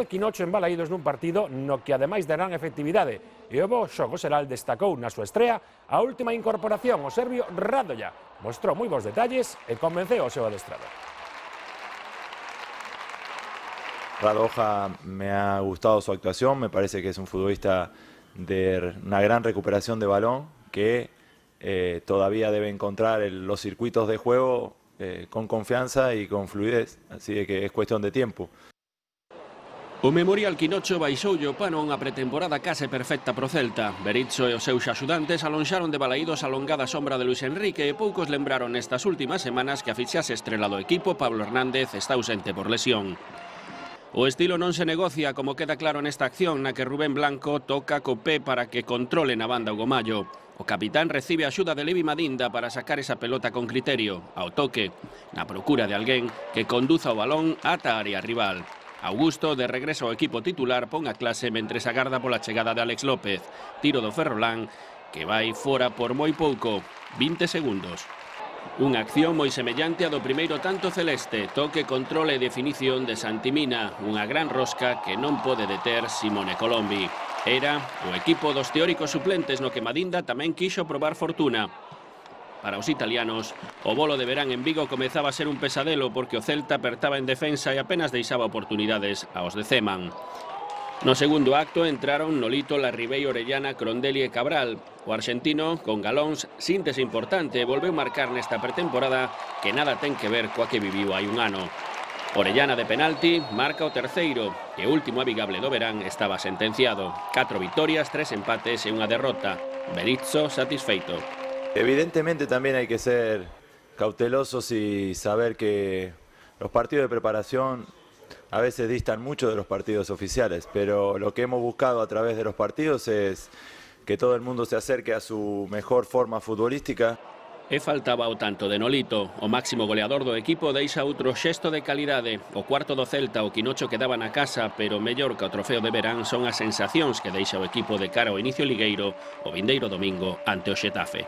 Quinocho en Balaídos nun partido no que ademais de gran efectividade e o bo xogo Seral destacou na súa estrea a última incorporación, o serbio Radoja. Mostrou moi bons detalles e convenceu o seu adestrador. Radoja me ha gustado su actuación, me parece que es un futbolista de una gran recuperación de balón que todavía debe encontrar los circuitos de juego con confianza y con fluidez, así que es cuestión de tiempo. O Memorial Quinocho baixoulle o pano unha pretemporada case perfecta pro Celta. Berizzo e os seus axudantes alonxaron de Balaídos a longada sombra de Luis Enrique e poucos lembraron nestas últimas semanas que a fichaxe estrela do equipo, Pablo Hernández, está ausente por lesión. O estilo non se negocia, como queda claro nesta acción na que Rubén Blanco toca co pé para que controle na banda o Gomallo. O capitán recibe a axuda de Levi Madinda para sacar esa pelota con criterio, ao toque, na procura de alguén que conduza o balón ata a área rival. Augusto, de regreso ao equipo titular, pon a clase mentres agarda pola chegada de Alex López. Tiro do Ferrolán, que vai fora por moi pouco, 20 segundos. Unha acción moi semellante a do primeiro tanto celeste, toque, controle e definición de Santimina, unha gran rosca que non pode deter Simone Colombi. Era o equipo dos teóricos suplentes no que Madinda tamén quixo probar fortuna. Para os italianos, o bolo de verán en Vigo comezaba a ser un pesadelo porque o Celta apertaba en defensa e apenas deixaba oportunidades aos de Zeman. No segundo acto entraron Nolito, Larribey, Orellana, Crondelli e Cabral. O arxentino, con galóns, síntese importante, volveu marcar nesta pretemporada que nada ten que ver coa que viviu hai un ano. Orellana de penalti marca o terceiro e o último amigable do verán estaba sentenciado. 4 vitorias, 3 empates e unha derrota. Berizzo satisfeito. Evidentemente también hay que ser cautelosos y saber que los partidos de preparación a veces distan mucho de los partidos oficiales, pero lo que hemos buscado a través de los partidos es que todo el mundo se acerque a su mejor forma futbolística. E faltaba o tanto de Nolito, o máximo goleador do equipo deixa outro xesto de calidade. O cuarto do Celta, o Quinocho quedaba na casa, pero mellor que o trofeo de verán son as sensacións que deixa o equipo de cara ao inicio ligueiro o vindeiro domingo ante o Xetafe.